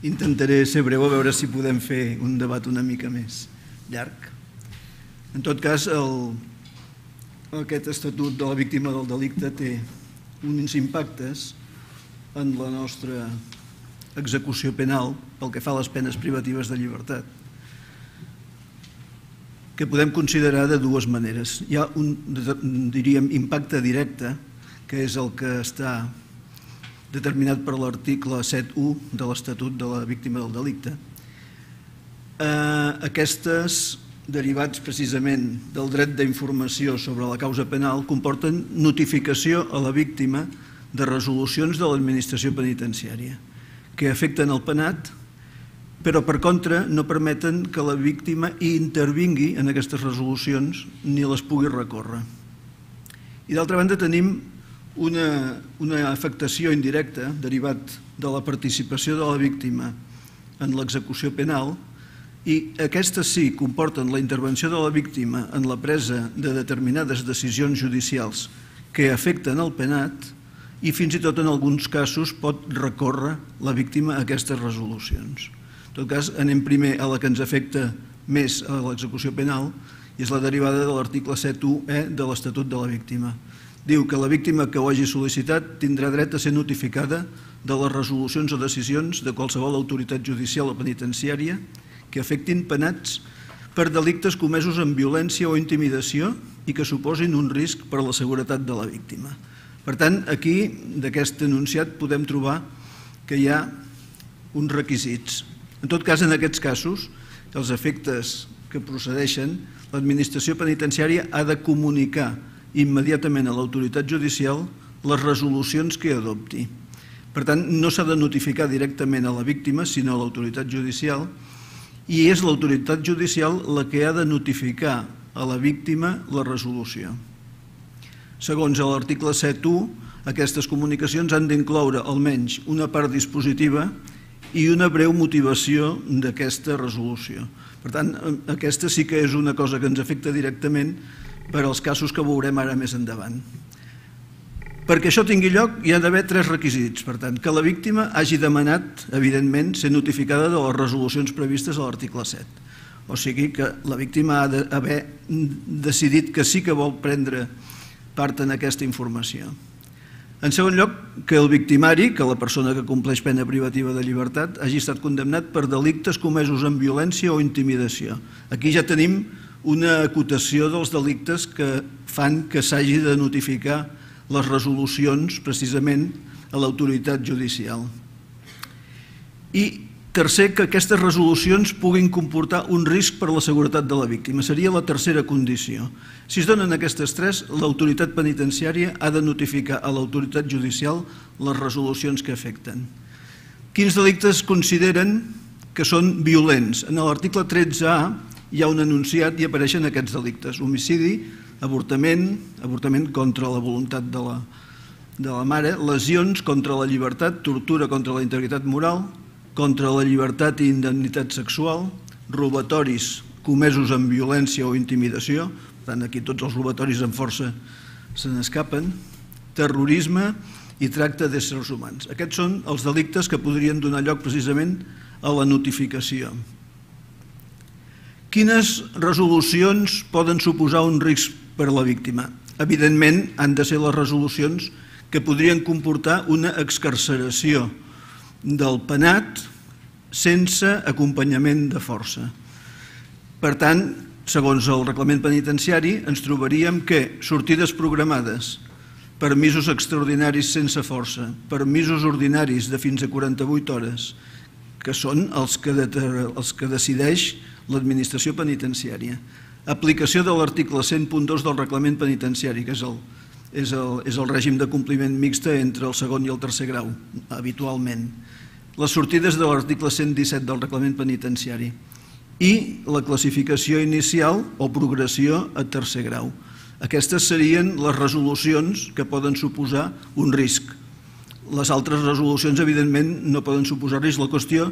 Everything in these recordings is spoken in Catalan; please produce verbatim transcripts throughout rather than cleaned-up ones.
Intentaré ser breu, a veure si podem fer un debat una mica més llarg. En tot cas, el, aquest Estatut de la Víctima del Delicte té uns impactes en la nostra execució penal pel que fa a les penes privatives de llibertat, que podem considerar de dues maneres. Hi ha un, diríem, impacte directe, que és el que està determinat per l'article set u de l'Estatut de la Víctima del Delicte. Aquestes, derivats precisament del dret d'informació sobre la causa penal, comporten notificació a la víctima de resolucions de l'administració penitenciària que afecten el penat, però per contra no permeten que la víctima hi intervingui en aquestes resolucions ni les pugui recórrer. I d'altra banda tenim una, una afectació indirecta derivat de la participació de la víctima en l'execució penal, i aquestes sí comporten la intervenció de la víctima en la presa de determinades decisions judicials que afecten el penat, i fins i tot en alguns casos pot recórrer la víctima a aquestes resolucions. En tot cas, anem primer a la que ens afecta més a l'execució penal, i és la derivada de l'article set u e de l'Estatut de la Víctima. Diu que la víctima que ho hagi sol·licitat tindrà dret a ser notificada de les resolucions o decisions de qualsevol autoritat judicial o penitenciària que afectin penats per delictes comesos amb violència o intimidació i que suposin un risc per a la seguretat de la víctima. Per tant, aquí, d'aquest enunciat, podem trobar que hi ha uns requisits. En tot cas, en aquests casos, els efectes que procedeixen, l'administració penitenciària ha de comunicar immediatament a l'autoritat judicial les resolucions que adopti. Per tant, no s'ha de notificar directament a la víctima, sinó a l'autoritat judicial, i és l'autoritat judicial la que ha de notificar a la víctima la resolució. Segons l'article set u, aquestes comunicacions han d'incloure almenys una part dispositiva i una breu motivació d'aquesta resolució. Per tant, aquesta sí que és una cosa que ens afecta directament per als casos que veurem ara més endavant. Perquè això tingui lloc hi ha d'haver tres requisits. Per tant, que la víctima hagi demanat, evidentment, ser notificada de les resolucions previstes a l'article set. O sigui que la víctima ha d'haver decidit que sí que vol prendre part en aquesta informació. En segon lloc, que el victimari, que la persona que compleix pena privativa de llibertat, hagi estat condemnat per delictes comesos amb violència o intimidació. Aquí ja tenim una acotació dels delictes que fan que s'hagi de notificar les resolucions precisament a l'autoritat judicial. I tercer, que aquestes resolucions puguin comportar un risc per a la seguretat de la víctima. Seria la tercera condició. Si es donen aquestes tres, l'autoritat penitenciària ha de notificar a l'autoritat judicial les resolucions que afecten. Quins delictes consideren que són violents? En l'article tretze a hi ha un enunciat i apareixen aquests delictes: homicidi, avortament, avortament contra la voluntat de la, de la mare, lesions contra la llibertat, tortura contra la integritat moral, contra la llibertat i indemnitat sexual, robatoris comesos amb violència o intimidació, per tant aquí tots els robatoris amb força se n'escapen, terrorisme i tracte d'éssers humans. Aquests són els delictes que podrien donar lloc precisament a la notificació. Quines resolucions poden suposar un risc per a la víctima? Evidentment, han de ser les resolucions que podrien comportar una excarceració del penat sense acompanyament de força. Per tant, segons el reglament penitenciari, ens trobaríem que sortides programades, permisos extraordinaris sense força, permisos ordinaris de fins a quaranta-vuit hores, que són els que, els que decideix l'administració penitenciària, aplicació de l'article cent punt dos del reglament penitenciari, que és el, és, el, és el règim de compliment mixta entre el segon i el tercer grau, habitualment, les sortides de l'article cent disset del reglament penitenciari i la classificació inicial o progressió a tercer grau. Aquestes serien les resolucions que poden suposar un risc. Les altres resolucions, evidentment, no poden suposar risc. La qüestió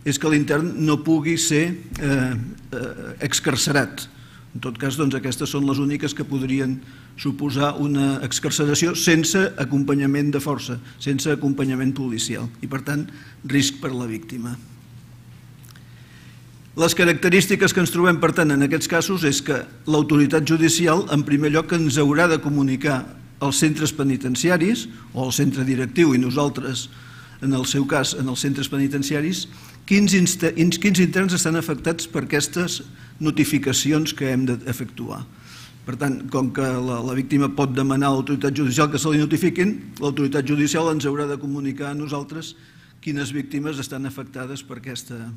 és que l'intern no pugui ser eh, eh, excarcerat. En tot cas, aquestes són les úniques que podrien suposar una excarceració sense acompanyament de força, sense acompanyament policial i, per tant, risc per a la víctima. Les característiques que ens trobem, per tant, en aquests casos és que l'autoritat judicial, en primer lloc, ens haurà de comunicar als centres penitenciaris o al centre directiu i nosaltres, en el seu cas, en els centres penitenciaris, quins interns estan afectats per aquestes notificacions que hem d'efectuar. Per tant, com que la víctima pot demanar a l'autoritat judicial que se li notifiquin, l'autoritat judicial ens haurà de comunicar a nosaltres quines víctimes estan afectades per aquesta,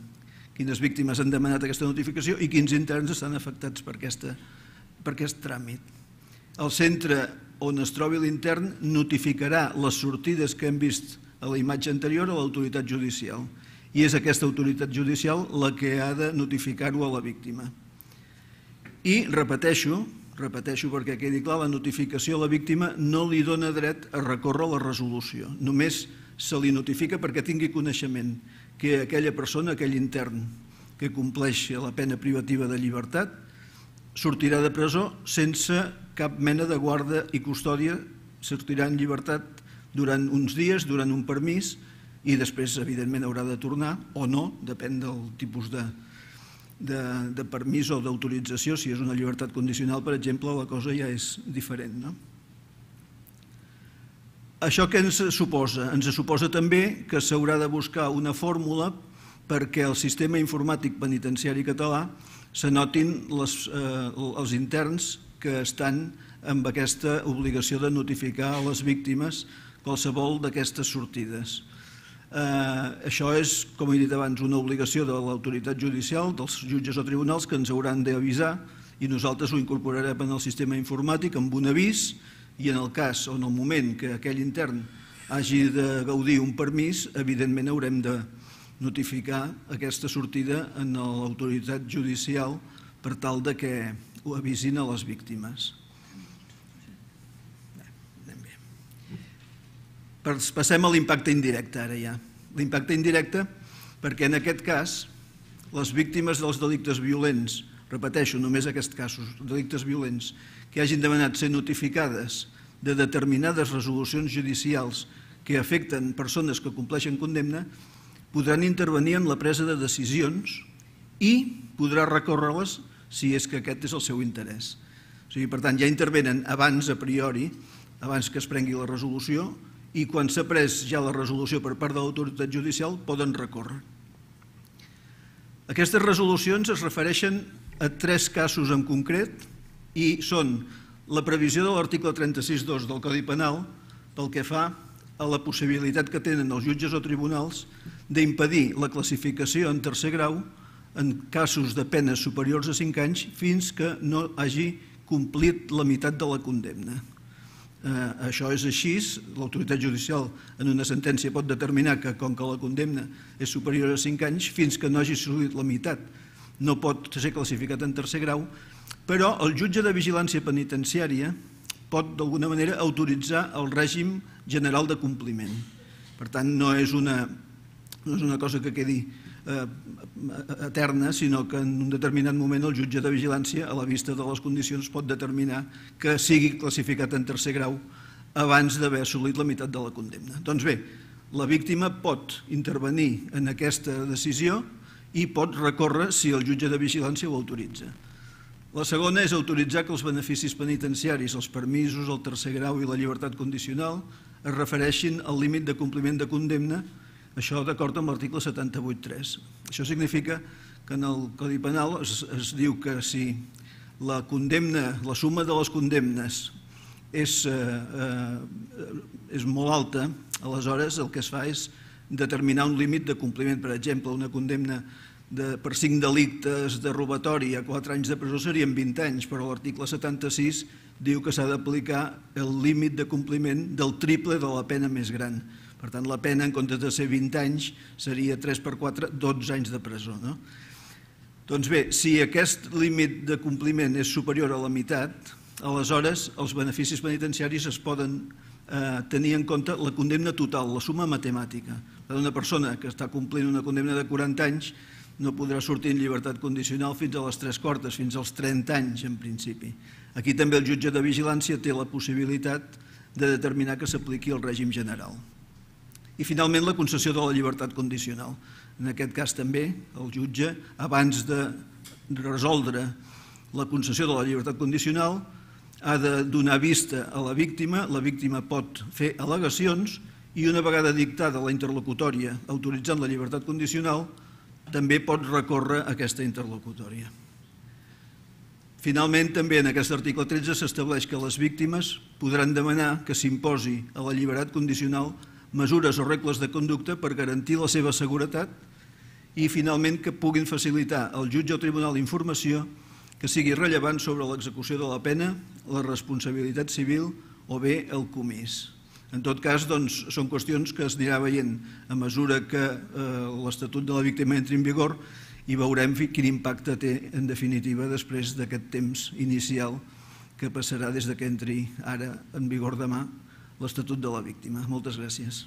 quines víctimes han demanat aquesta notificació i quins interns estan afectats per aquest tràmit. El centre on es trobi l'intern notificarà les sortides que hem vist a la imatge anterior a l'autoritat judicial i és aquesta autoritat judicial la que ha de notificar-ho a la víctima. I repeteixo, repeteixo perquè quedi clar, la notificació a la víctima no li dona dret a recórrer la resolució. Només se li notifica perquè tingui coneixement que aquella persona, aquell intern que compleixi la pena privativa de llibertat, sortirà de presó sense cap mena de guarda i custòdia, sortirà en llibertat durant uns dies, durant un permís, i després, evidentment, haurà de tornar o no, depèn del tipus de, de, de permís o d'autorització. Si és una llibertat condicional, per exemple, la cosa ja és diferent, no? Això què ens suposa? Ens suposa també que s'haurà de buscar una fórmula perquè el sistema informàtic penitenciari català s'anotin les, eh, els interns que estan amb aquesta obligació de notificar a les víctimes qualsevol d'aquestes sortides. Eh, això és, com he dit abans, una obligació de l'autoritat judicial, dels jutges o tribunals, que ens hauran d'avisar i nosaltres ho incorporarem en el sistema informàtic amb un avís i en el cas o en el moment que aquell intern hagi de gaudir un permís, evidentment haurem de notificar aquesta sortida en l'autoritat judicial per tal de que ho avisin a les víctimes. Passem a l'impacte indirecte ara ja. L'impacte indirecte perquè en aquest cas les víctimes dels delictes violents, repeteixo, només aquests casos, delictes violents, que hagin demanat ser notificades de determinades resolucions judicials que afecten persones que compleixen condemna, podran intervenir en la presa de decisions i podrà recórrer-les si és que aquest és el seu interès. O sigui, per tant, ja intervenen abans, a priori, abans que es prengui la resolució, i quan s'ha pres ja la resolució per part de l'autoritat judicial poden recórrer. Aquestes resolucions es refereixen a tres casos en concret i són la previsió de l'article trenta-sis punto dos del Codi Penal pel que fa a la possibilitat que tenen els jutges o tribunals d'impedir la classificació en tercer grau en casos de penes superiors a cinc anys fins que no hagi complit la meitat de la condemna. Això és així, l'autoritat judicial en una sentència pot determinar que com que la condemna és superior a cinc anys, fins que no hagi assolit la meitat no pot ser classificat en tercer grau, però el jutge de vigilància penitenciària pot d'alguna manera autoritzar el règim general de compliment. Per tant, no és una, no és una cosa que quedi eh, eterna, sinó que en un determinat moment el jutge de vigilància, a la vista de les condicions, pot determinar que sigui classificat en tercer grau abans d'haver assolit la meitat de la condemna. Doncs bé, la víctima pot intervenir en aquesta decisió i pot recórrer si el jutge de vigilància ho autoritza. La segona és autoritzar que els beneficis penitenciaris, els permisos, el tercer grau i la llibertat condicional es refereixin al límit de compliment de condemna, això d'acord amb l'article setanta-vuit punt tres. Això significa que en el Codi Penal es, es diu que si la condemna, la suma de les condemnes és, eh, eh, és molt alta, aleshores el que es fa és determinar un límit de compliment. Per exemple, una condemna de, per cinc delictes de robatori a quatre anys de presó serien vint anys, però l'article setanta-sis diu que s'ha d'aplicar el límit de compliment del triple de la pena més gran. Per tant, la pena, en comptes de ser vint anys, seria tres per quatre, dotze anys de presó. No? Doncs bé, si aquest límit de compliment és superior a la meitat, aleshores els beneficis penitenciaris es poden eh, tenir en compte la condemna total, la suma matemàtica. Per una persona que està complint una condemna de quaranta anys, no podrà sortir en llibertat condicional fins a les tres quartes, fins als trenta anys en principi. Aquí també el jutge de vigilància té la possibilitat de determinar que s'apliqui el règim general. I finalment la concessió de la llibertat condicional. En aquest cas també el jutge, abans de resoldre la concessió de la llibertat condicional, ha de donar vista a la víctima, la víctima pot fer al·legacions i una vegada dictada la interlocutòria autoritzant la llibertat condicional, també pot recórrer aquesta interlocutòria. Finalment, també en aquest article tretze s'estableix que les víctimes podran demanar que s'imposi a la llibertat condicional mesures o regles de conducta per garantir la seva seguretat i, finalment, que puguin facilitar al jutge o tribunal informació que sigui rellevant sobre l'execució de la pena, la responsabilitat civil o bé el comís. En tot cas, doncs, són qüestions que es anirà veient a mesura que l'Estatut de la Víctima entri en vigor i veurem quin impacte té, en definitiva, després d'aquest temps inicial que passarà des que entri ara en vigor demà l'Estatut de la Víctima. Moltes gràcies.